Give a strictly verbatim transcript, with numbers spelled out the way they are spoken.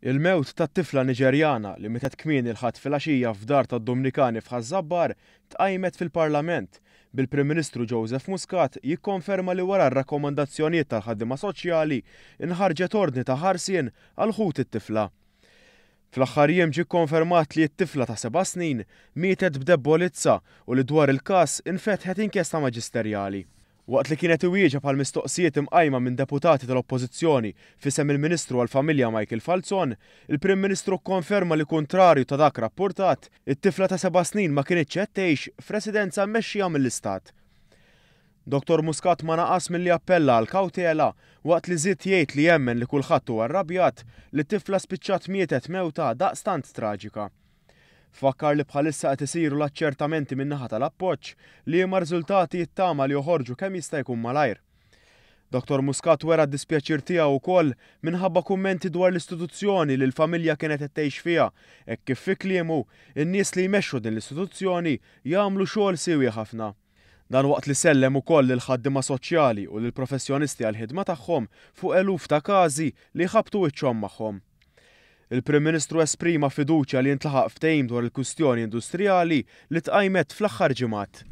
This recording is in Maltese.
Il-mewt tat-tifla Niġerjana li mietet kmieni l-Ħadd filgħaxija f'dar tad-Dumnikani f'Ħaż-Żabbar tqajmet fil-Parlament, bil-Prim Ministru Joseph Muscat jikkonferma li wara r-rakkomandazzjonijiet tal-ħaddiema soċjali nħarġet ordni ta' ħarsien għal ħut it-tifla. Fl-aħħar jiem ġie kkonfermat li t-tifla ta' seba' snin mietet b'debbolizza u li dwar il-każ infetħet inkjesta maġisterjali. Waqt li kien qed iwieġeb għal mistoqsijiet imqajma minn deputati tal-Oppożizzjoni f'isem il-Ministru għall-Familja Michael Falzon, il-Prim Ministru kkonferma li kuntrarju ta' dak rappurtat, it-tifla ta' seba' snin ma kinitx qed tgħix f'residenza mmexxija mill-Istat. Dottor Muscat ma naqas milli appella għal kawtela waqt li żied jgħid li jemmen li kulħadd huwa rrabjat li t-tifla spiċċat mietet mewta daqstant traġika. Fakkar li bħalissa qed isiru l-aċċertamenti min-naħa tal-Appoġġ, liema riżultati jittama li joħorġu kemm jista' jkun malajr. Dottor Muscat wera d-dispjaċir tiegħu wkoll minħabba kummenti dwar l-istituzzjoni li l-familja kienet qed tgħix fiha, hekk kif fi kliemu in-nies li jmexxu din l-istituzzjoni jagħmlu xogħol siewi ħafna. Dan waqt li sellem ukoll lill-ħaddiema soċjali u lill-professjonisti għall-ħidma tagħhom fuq eluf ta' każi li jħabbtu wiċċhom magħhom. Il-Prim Ministru esprima fiduċja li jintlaħaq ftehim dwar il-kwistjoni industrijali li tqajmet fl-aħħar ġimgħat.